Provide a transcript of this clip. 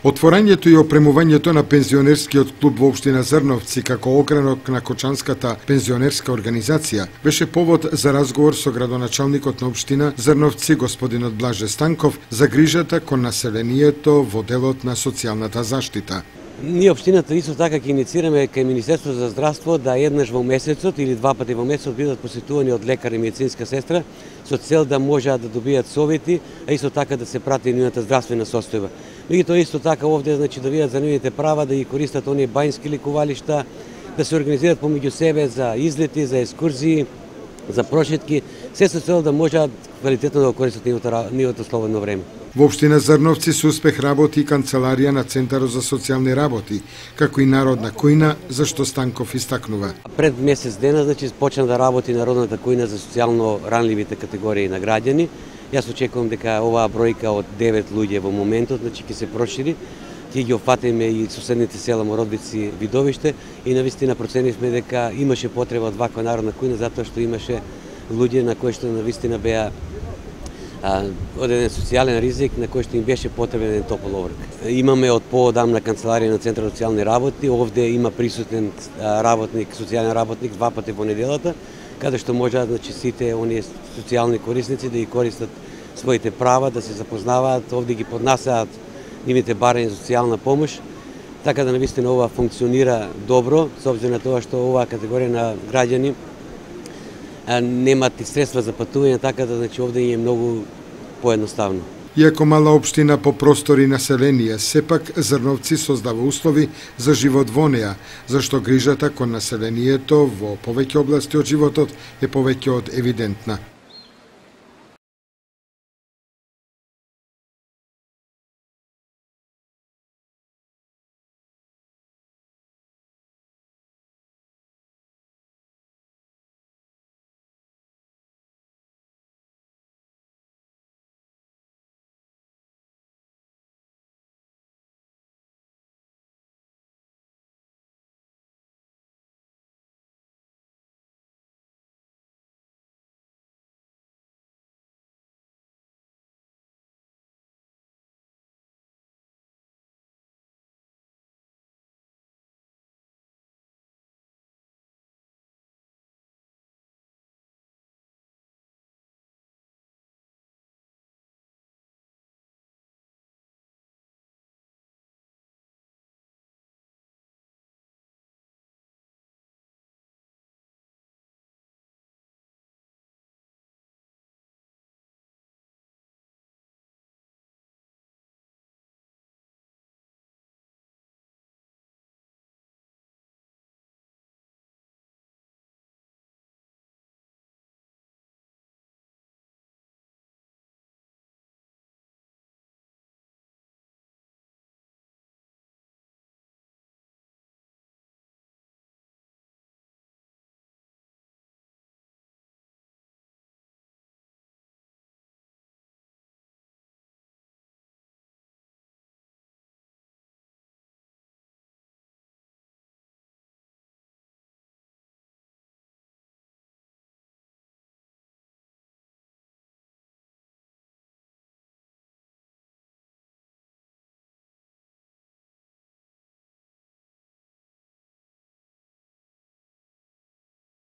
Отворањето и опремувањето на пензионерскиот клуб во општина Зрновци како огранок на Кочанската пензионерска организација беше повод за разговор со градоначалникот на општина Зрновци господинот Блаже Станков за грижата кон населението во делот на социјалната заштита. Ние општината исто така ќе инициираме кај Министерството за здравство да еднаш во месецот или два пати во месецот бидат посетувани од лекар и медицинска сестра со цел да можат да добијат совети, а исто така да се прати нивната здравствена состојба. Меѓутоа исто така овде значи да видат за нивните права, да ги користат оние бањски лекувалишта, да се организираат помеѓу себе за излети, за екскурзии, за прошетки, се со цел да можат квалитетно да го користат нивото слободно време. Во општина Зрновци со успех работи и канцеларија на Центарот за социјални работи, како и народна кујна, за што Станков истакнува. Пред месец дена значи почна да работи народната кујна за социјално ранливите категории на граѓани. Јас очекувам дека оваа бројка од 9 луѓе во моментот значи ќе се прошири. Ќе ги опфатиме и соседните села Мородбици, Видовиште и навистина проценивме дека имаше потреба од ваква народна кујна затоа што имаше луѓе на кои што навистина беа од еден социјален ризик на кој што им беше потребен еден топол оброк. Имаме од поодамна канцеларија на Центарот за социјални работи, овде има присутен работник, социјален работник два пати во неделата, каде што можат значи сите оние социјални корисници да ги користат своите права, да се запознаваат, овде ги поднасаат нивните барања за социјална помош, така да навистина ова функционира добро, со обзир на тоа што оваа категорија на граѓани немат и средства за патување, така да значи овде е многу поедноставно. Иако мала општина по простор и население, сепак Зрновци создава услови за живот во неа, зашто грижата кон населението во повеќе области од животот е повеќе од евидентна.